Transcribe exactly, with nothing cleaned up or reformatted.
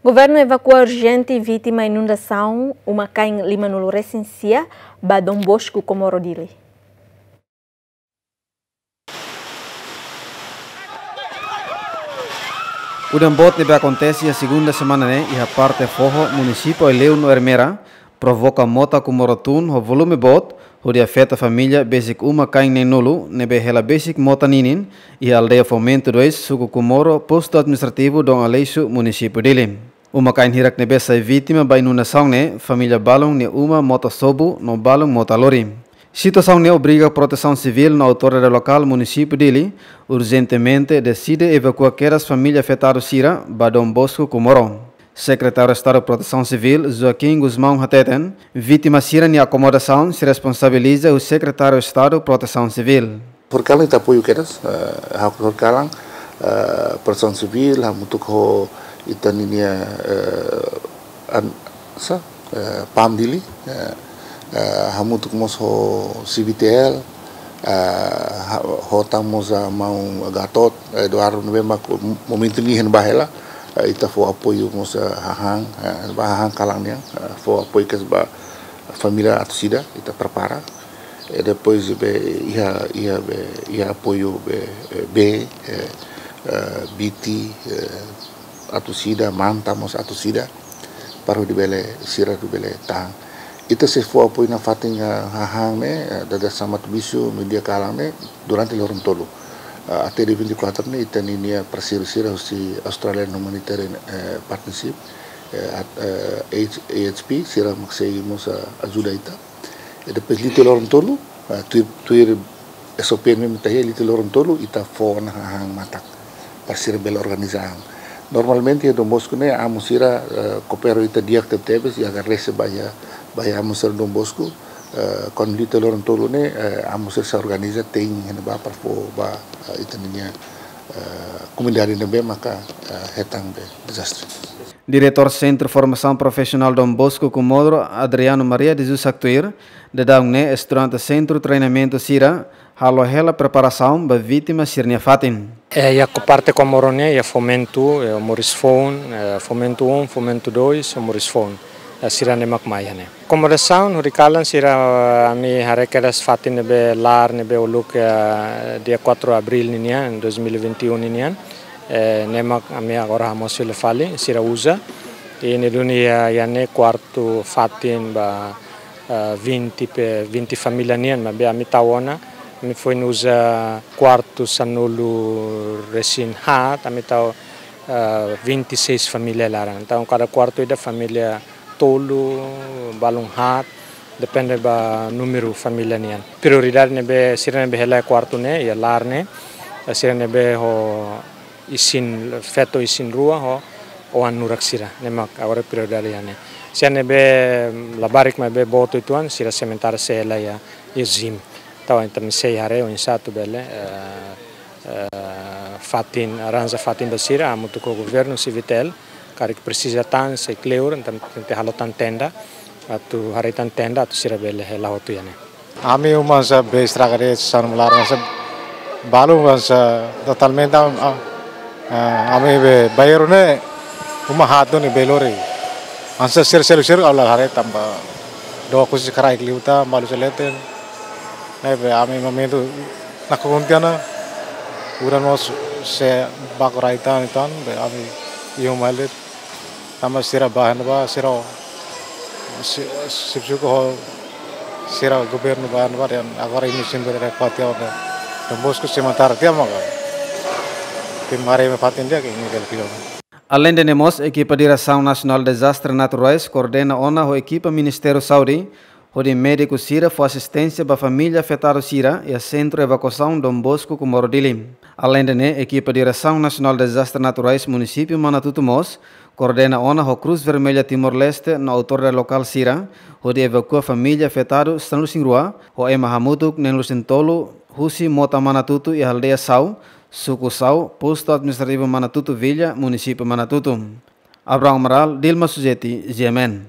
Governu evakua urjente vítima inundasaun uma-kain limanulu resin sia ba Dom Bosco, Comoro, Dili. Udan boot ne'ebé akontese iha segunda semana ne'e iha parte foho munisípiu Aileu no Ermera, provoka mota Comoro tun ho volume boot, hodi afeta família besik uma-kain neenulu, ne'ebé hela besik mota ninin, iha aldeia Fomento dois, suku Comoro, postu administrativu Dom Aleixo, munisípiu Dili. Uma-kain hirak ne'ebé sai vítima ba inundasaun ne'e, família balun nia uma, mota sobu, no balun mota lori. Situasaun ne'e obriga Protesaun Sivíl no autoridade lokál munisípiu Dili, urjentemente deside evakua kedas família afetadu sira ba Dom Bosco, Comoro. Sekretáriu Estadu Protesaun Sivíl, Joaquim Gusmão, hateten, vítima sira-nia akomodasaun sei responsabiliza husi Sekretáriu Estadu Protesaun Sivíl. Horikalan ita apoiu kedas, eh, hak horikalan, eh, Protesaun Sivíl, hamutuk ho ita-ninia, eh, an-, sa, eh, PAM Dili, eh, eh, hamutuk mós ho C V T L, eh, ha-, ho tan mós, eh, maun Gatot, eh, Eduardo ne'ebé mak momentu ne'e iha ne'ebá hela, eh, ita fó apoiu mós, eh, hahán, eh, ba hahán kalan nian, eh, fó apoiu kedas ba família atus ida, ita prepara. Eh, depois be iha, iha be, iha apoiu be, eh, be, eh, eh, B T, eh, atus ida, MAN tan mós atus ida, para hodi bele, sira hodi bele tahan. Ita sei fó apoiu nafatin, eh, hahán ne'e, eh, dada samat bisu, meiudia kalan ne'e, durante loron tolu. Eh, até dia vinte e quatro ne'e, ita-ninia parseiru sira husi Australian Humanitarian, eh, Partnership, eh, at-, eh, H-, A H P, sira mak sei mós, eh, ajuda ita. I depois liu tiha loron tolu, ah, tuir, tuir S O P ne'ebé ita iha, liu tiha loron tolu, ita fó ona hahán matak para sira bele organiza an. Normalmente iha Dom Bosco ne'e, amu sira, eh, koopera ho ita di'ak tebetebes, i agradese ba iha, ba iha amu sira Dom Bosco, eh, kuandu liu tiha loron tolu ne'e, eh, amu sira sei organiza te'in iha ne'ebá para fó ba, eh, ita-ninia, eh, komunidade ne'ebé maka, eh, hetan be dezastre. Diretór Sentru Formasaun Profisionál Dom Bosco Comoro, Adriano Maria de Jesus, haktuir, daudaun ne'e estudante sentru treinamentu sira halo hela preparasaun ba vítima sira-nia fatin. Eh, iha parte Comoro nian, iha Fomento, eh, Moris Foun, eh, Fomento um, Fomento dois, Moris Foun. Eh, sira-ne'e mak mai iha ne'e. Akomodasaun horikalan sira, eh, ami haree kedas fatin ne'ebé laar ne'ebé uluk, eh, dia quatro Abril ninian, dois mil e vinte e um ninian. Eh, ne'e mak ami agora hamosu fila fali, sira uza. I ne'e duni iha, iha ne'e kuartu fatin ba, eh, vinte pe, vinte família nian, maibé ami tau ona, ami foin uza kuartu sanulu resin haat, ami tau, eh, vinte e seis família laran. Entaun, kada kuartu ida família tolu, balun haat, depende ba númeru família nian. Prioridade ne'ebé, sira ne'ebé hela iha kuartu ne'e, iha laar ne'e, eh, sira ne'ebé ho isin, feto isin rua ho oan nurak sira, ne'e mak agora prioridade iha ne'e. Sira ne'ebé labarik maibé boot uitoan, sira sementara sei hela iha, iha ZEEM. Entaun, ita sei haree oinsá atu bele, eh, eh, fatin, arranja fatin ba sira, hamutuk ho governu, C V T L, karik presiza tan, sei kleur, entaun tenke halo tan tenda, atu haree tan tenda, atu sira bele hela hotu iha ne'e. Ami uma hanesan be estraga de'it, sanu malar hanesan balu hanesan totalmente am-, am-, ah, ami be bairu ne'e uma haat duni be lori. Hanesan sira seluk-seluk ha'u la haree tanba dook husi kraik liután, balu sei leten. Ne'ebé ami momentu nakukun tiha ona, udan mós sei baku rai tan, tan, be ami iha uma hela de'it. Tanba sira ba iha ne'ebá, sira, si-, sip suku ho sira governu ba iha ne'ebá, dan agora imi sempre ada kuat ya, udah. Dom Bosco sementara tiha maka. Tim hari me fatin dia ke ini kalau film. Aleinde ne'e mós, ekipa Diresaun Nasionál Dezastre Naturais koordena ona ho ekipa Ministériu Saúde, hodi médiku sira fó asisténsia ba família afetadu sira iha Sentru Evakuasaun Dom Bosco Comoro Dili. Aleinde ne'e, ekipa Diresaun Nasionál Dezastre Naturais Munisípiu Manatuto mós koordena ona ho Cruz Vermelha Timor-Leste no autoridade lokál sira, hodi evakua família afetadu sanulu-resin-rua, ho ema hamutuk neenulu-resin-tolu, husi mota Manatuto iha aldeia Sau, suku Sau, postu administrativu Manatuto Villa, munisípiu Manatuto. Abrão Amaral, Dilma Suzeti, G M N.